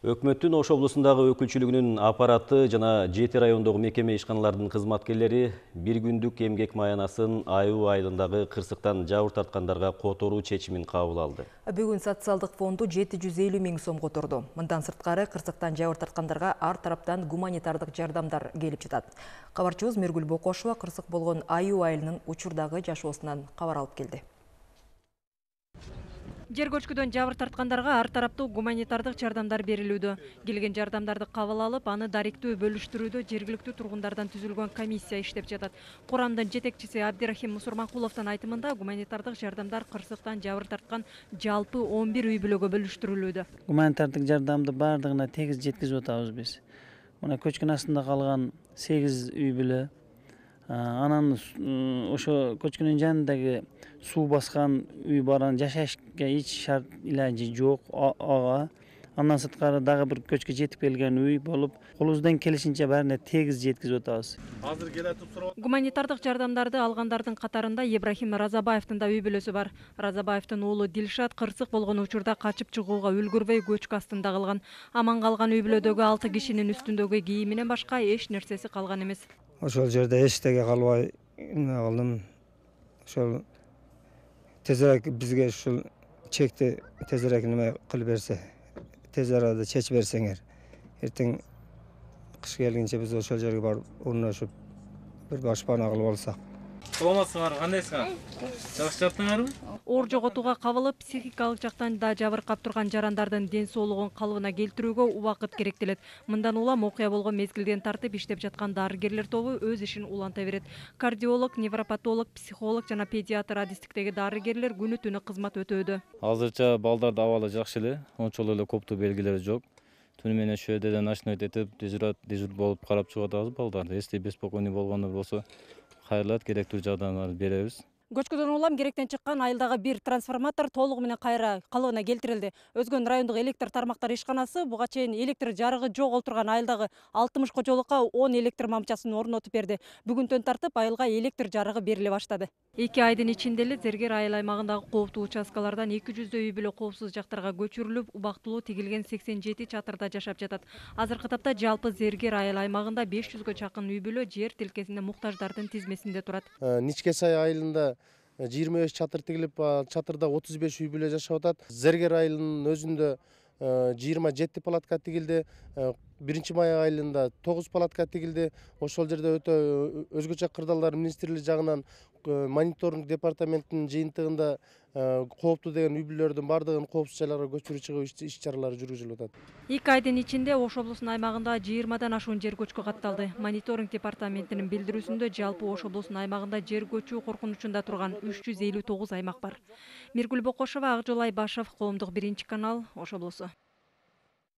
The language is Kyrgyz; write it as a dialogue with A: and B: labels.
A: Өкмөттүн Ош облусундагы өкүлчүлүгүнүн аппараты жана 7 райондогу мекеме ишканалардын кызматкерлери бир күндүк эмгек маянасын аюу айылындагы кырсыктан жабыр тарткандарга которуу чечимин кабыл алды.
B: Бүгүн социалдык фонду 750 миң сом которду. Мындан сырткары кырсыктан жабыр тарткандарга ар тараптан гуманитардык жардамдар келип жатат. Кабарчыбыз Мергүл Бокошова кырсык болгон аюу айылынын учурдагы жашоосунан кабар алып келди.
C: Жер көчкүдөн жабыр тарткандарга ар тараптуу гуманитардык жардамдар берилүүдө. Келген жардамдарды кабыл алып, аны даректүү бөлүштүрүүдө жергиликтүү тургундардан түзүлгөн комиссия иштеп жатат. Курамдын жетекчиси Абдирахим Мусурманкуловдун айтымында гуманитардык жардамдар кырсыктан жабыр тарткан жалпы 11 үй бүлөгө бөлүштүрүлүүдө.
D: Гуманитардык жардамды бардыгына тегиз жеткизип атабыз биз. Мына көчкүн астында калган 8 үй бүлө, анан ошо көчкүнүн жанындагы суу баскан үй баран жашашка эч шарт илажы жок ага. Андан сырткары дагы бир көчкү жетип келген үй болуп, колубуздан келишинче баарына тегиз жеткизип атабыз.
C: Азыр келатып сурап. Гуманитардык жардамдарды алгандардын катарында Ибрахим Разабаевдин да үй бүлөсү бар. Разабаевдин уулу Дилшат кырсык болгон учурда качып чыгууга үлгүрбөй көчкү астында калган. Аман калган үй бүлөдөгү 6 кишинин үстүндөгү кийиминен башка эч нерсеси калган эмес.
E: Ошол жерде эчтеге калбай калдым. Ошол тезирээк бизге ушул чекти тезирээк неме кылып берсе, тез арада чечип берсеңер, эртең кыш келгенче биз ошол жерге барып орношуп бир башпана кылып алсак.
F: Саламатсыңар, кандайсыңар? Жакшы жаттыңарбы?
C: Оор жоготууга кабылып, психикалык жактан да жабыркап турган жарандардын ден соолугун калыбына келтирүүгө убакыт керектелет. Мындан улам окуя болгон мезгилден тартып иштеп жаткан дарыгерлер тобу өз ишин уланта берет. Кардиолог, невропатолог, психолог жана педиатр адистиктеги дарыгерлер күнү түнү кызмат өтөөдө.
F: Азырча балдардын абалы жакшы эле, ончолук эле коптуу белгилери жок. Түнү менен ШВДден ночной этип, дежур болуп карап чыгып атабыз балдарды. Если беспокойный болгондор болсо, кайрылат, керектүү жардамдарды беребиз.
C: Көчкүдөн улам керектен чыккан айылдагы бир трансформатор толугу менен кайра калыбына келтирилди. Өзгөн райондук электр тармактар ишканасы буга чейин электр жарыгы жок олтурган айылдагы 60 кожолукка 10 электр мамчасын орнотуп берди. Бүгүнтөн тартып айылга электр жарыгы бериле баштады. 2 айдын ичинде эле Зергер айыл аймагындагы кооптуу участкалардан 200 үй бүлө коопсуз жактарга көчүрүлүп, убактылуу тигилген 87 чатырда жашап жатат. Азыркы тапта жалпы Зергер айыл аймагында 500гө чакын үй бүлө жер тилкесинде муктаждардын тизмесинде турат.
G: Ничке сай айылында 25 чатыр тигилип, чатырда 35 үй бүлө жашап атат. Зергер айылынын өзүндө 27 палатка тигилди. 1-Май айылында 9 палатка тигилди. Ошол жерде өтө өзгөчө кырдаалдар министрлиги жагынан мониторинг департаментинин жыйынтыгында кооптуу деген үй бүлөлөрдүн бардыгын коопсуз жайларга көчүрүү чыгуу иш-чаралары жүргүзүлүп атат.
C: 2 айдын ичинде Ош облусунун аймагында 20дан ашуун жер көчкү катталды. Мониторинг департаментинин билдирүүсүндө жалпы Ош облусунун аймагында жер көчүү коркунучунда турган 359 аймак бар. Миргүл Бокошова, Акжол Айбашев, Коомдук 1 канал, Ош облусу.